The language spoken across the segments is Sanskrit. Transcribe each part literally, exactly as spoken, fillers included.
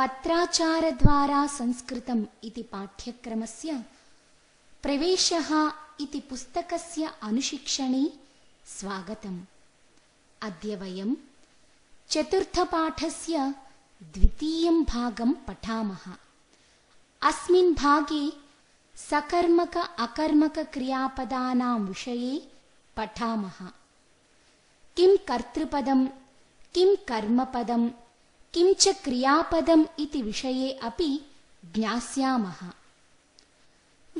पत्राचारद्वारा संस्कृतम् इति पाठ्यक्रमस्य प्रवेशः इति पुस्तकस्य अनुशिक्षणे स्वागतम्। अद्य वयं चतुर्थपाठस्य द्वितीयं भागं पठामः। अस्मिन् भागे सकर्मक अकर्मक क्रियापदानां विषये पठामः। किं कर्तृपदं, किं कर्मपदं, किं च क्रियापदम् इति विषये अपि ज्ञास्यामः।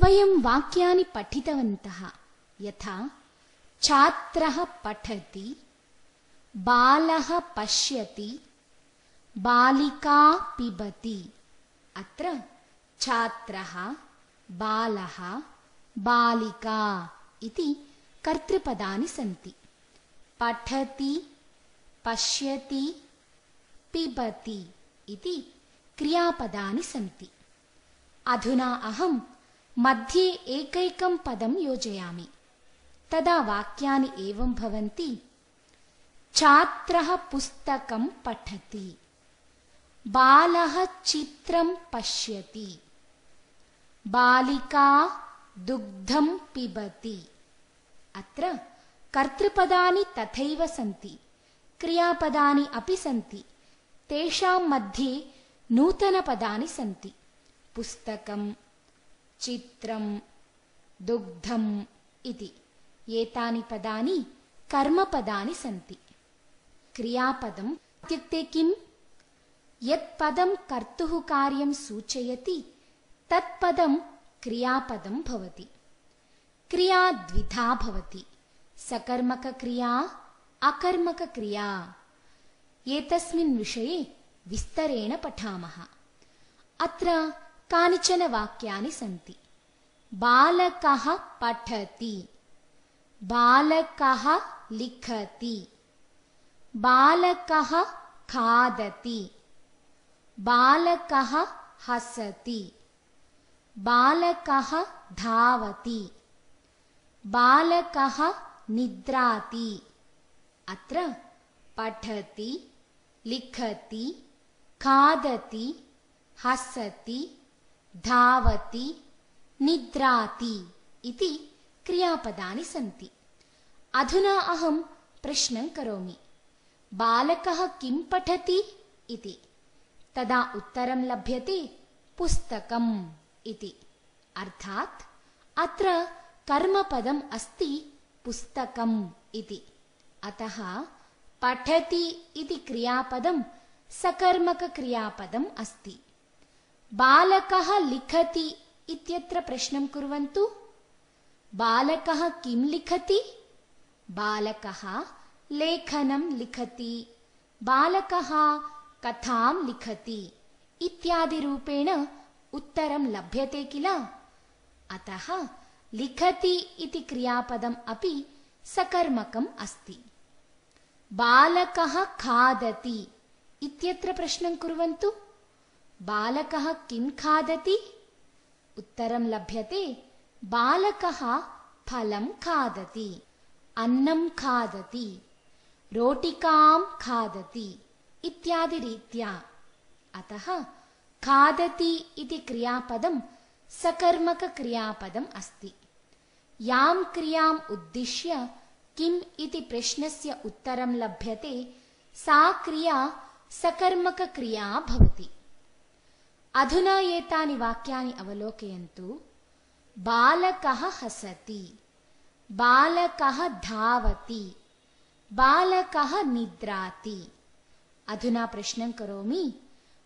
वयं वाक्यानि पठितवन्तः, यथा छात्रः पठति, बालः पश्यति, बालिका पिबति। अत्र छात्रः, बालः, बालिका इति कर्तृपदानि सन्ति। पठति, पश्यति, पिबति इति क्रियापदानि सन्ति। अधुना अहं मध्ये एकैकं पदं योजयामि, तदा वाक्यानि एवं भवन्ति। छात्रः पुस्तकं पठति, बालः चित्रं पश्यति, बालिका दुग्धं पिबति। अत्र कर्तृपदानि तथैव सन्ति, क्रियापदानि अपि सन्ति। तेषां मध्ये नूतनपदानि सन्ति। पुस्तकं, चित्रं, दुग्धम् इति एतानि पदानि कर्मपदानि सन्ति। क्रियापदम् इत्युक्ते किम्? यत् पदं कर्तुः कार्यं सूचयति तत्पदं क्रियापदं भवति। क्रिया द्विधा भवति, सकर्मकक्रिया, अकर्मकक्रिया। एतस्मिन् विषये विस्तरेण पठामः। अत्र कानिचन वाक्यानि सन्ति। बालकः पठति, बालकः लिखति, बालकः खादति, बालकः हसति, बालकः धावति, बालकः निद्राति। अत्र पठति, लिखति, खादति, हसति, धावति, निद्राति इति क्रियापदानि सन्ति। अधुना अहं प्रश्नं करोमि, बालकः किं पठति इति। तदा उत्तरं लभ्यते पुस्तकम् इति। अर्थात् अत्र कर्मपदम् अस्ति पुस्तकम् इति। अतः पठति इति क्रियापदं सकर्मकक्रियापदम् अस्ति। बालकः लिखति इत्यत्र प्रश्नं कुर्वन्तु। बालकः किं लिखति? बालकः लेखनं लिखति, बालकः कथां लिखति इत्यादिरूपेण उत्तरं लभ्यते किल? अतः लिखति इति क्रियापदम् अपि सकर्मकम् अस्ति। बालकः खादति इत्यत्र प्रश्नं कुर्वन्तु। बालकः किं खादति? उत्तरं लभ्यते बालकः फलं खादति, अन्नं खादति, रोटिकां खादति इत्यादि रीत्या। अतः खादति इति क्रियापदं सकर्मकक्रियापदम् अस्ति। यां क्रियाम् उद्दिश्य किम् इति प्रश्नस्य उत्तरं लभ्यते सा क्रिया सकर्मकक्रिया भवति। अधुना एतानि वाक्यानि अवलोकयन्तु। बालकः हसति, बालकः धावति, बालकः निद्राति। अधुना प्रश्नं करोमि,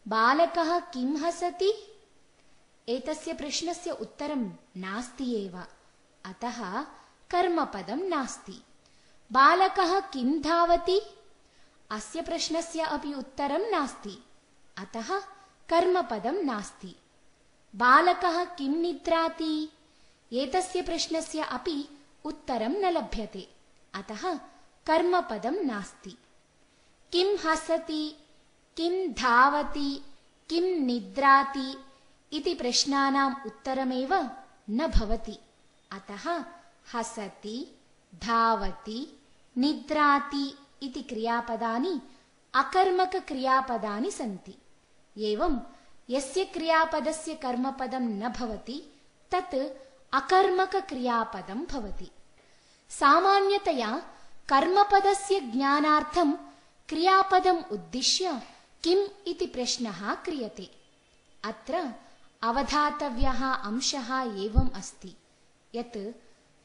बालकः किं हसति? एतस्य प्रश्नस्य उत्तरं नास्ति एव, अतः कर्मपदं नास्ति। बालकः किं धावति? अस्य प्रश्नस्य अपि उत्तरं नास्ति, अतः कर्मपदं नास्ति। बालकः किं निद्राति? एतस्य प्रश्नस्य अपि उत्तरं न लभ्यते, अतः कर्मपदं नास्ति। किं हसति, किं धावति, किं निद्राति इति प्रश्नानाम् उत्तरमेव न भवति, अतः हसति, धावति, निद्राति इति क्रियापदानि अकर्मकक्रियापदानि सन्ति। एवं यस्य क्रियापदस्य कर्मपदं न भवति तत् अकर्मकक्रियापदं भवति। सामान्यतया कर्मपदस्य ज्ञानार्थं क्रियापदम् उद्दिश्य किम् इति प्रश्नः क्रियते। अत्र अवधातव्यः अंशः एवम् अस्ति यत्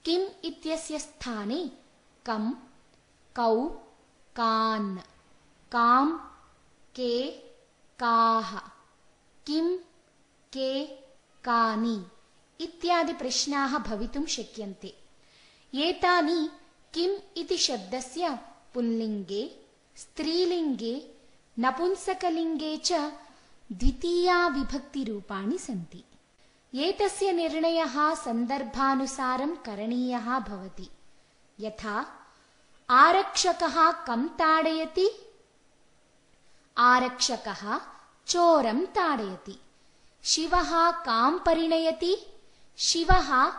किम् इत्यस्य स्थाने कं, कौ, कान्, काम्, के, काः, किं, के, कानि इत्यादि प्रश्नाः भवितुं शक्यन्ते। एतानि किम् इति शब्दस्य पुल्लिङ्गे, स्त्रीलिङ्गे, नपुंसकलिङ्गे च द्वितीया विभक्तिरूपाणि सन्ति। एतस्य निर्णयः सन्दर्भानुसारं करणीयः भवति। यथा आरक्षकः कं ताडयति? आरक्षकः चोरं ताडयति। शिवः कां परिणयति? शिवः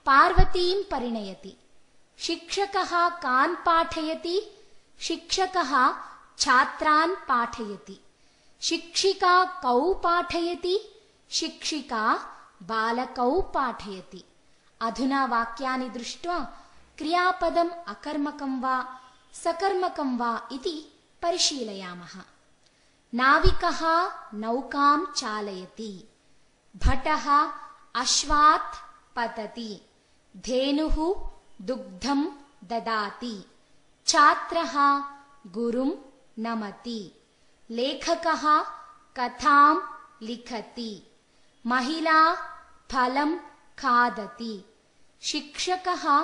पार्वतीं परिणयति। शिक्षकः कान् पाठयति? शिक्षकः छात्रान् पाठयति। शिक्षिका कौ पाठयति? शिक्षिका बालकौ पाठयति। अधुना वाक्यानि दृष्ट्वा क्रियापदम् अकर्मकं वा सकर्मकं वा इति परिशीलयामः। नाविकः नौकां चालयति। भटः अश्वात् पतति। धेनुः दुग्धं ददाति। छात्रः गुरुं नमति। लेखकः कथां लिखति। महिला फलं खादति। शिक्षकः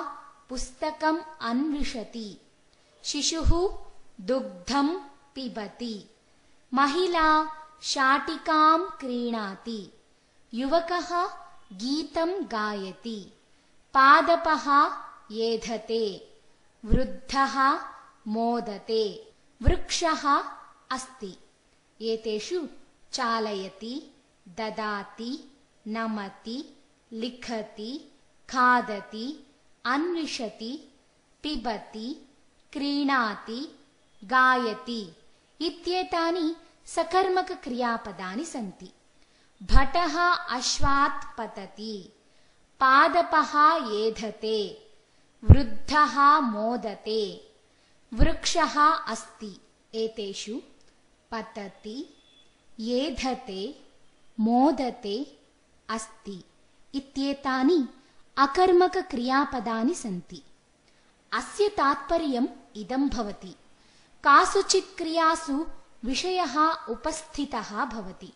पुस्तकम् अन्विषति। शिशुः दुग्धं पिबति। महिला शाटिकां क्रीणाति। युवकः गीतं गायति। पादपः येधते। वृद्धः मोदते। वृक्षः अस्ति। एतेषु चालयति, ददाति, नमति, लिखति, खादति, अन्विषति, पिबति, क्रीणाति, गायति इत्येतानि सकर्मकक्रियापदानि सन्ति। भटः अश्वात् पतति। पादपः येधते। वृद्धः मोदते। वृक्षः अस्ति। एतेषु पतति, येधते, मोदते, अस्ति इत्येतानि अकर्मकक्रियापदानि सन्ति। अस्य तात्पर्यम् इदं भवति, कासुचित् क्रियासु विषयः उपस्थितः भवति,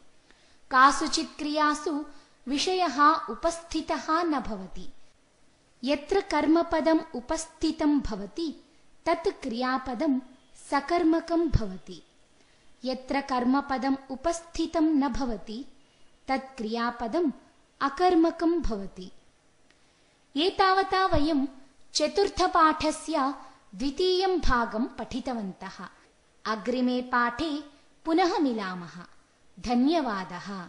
कासुचित् क्रियासु विषयः उपस्थितः न भवति। यत्र कर्मपदम् उपस्थितं भवति तत् क्रियापदं सकर्मकं भवति। यत्र कर्मपदम् उपस्थितं न भवति तत् क्रियापदम् अकर्मकं भवति। एतावता वयं चतुर्थपाठस्य द्वितीयं भागं पठितवन्तः। अग्रिमे पाठे पुनः मिलामः। धन्यवादः।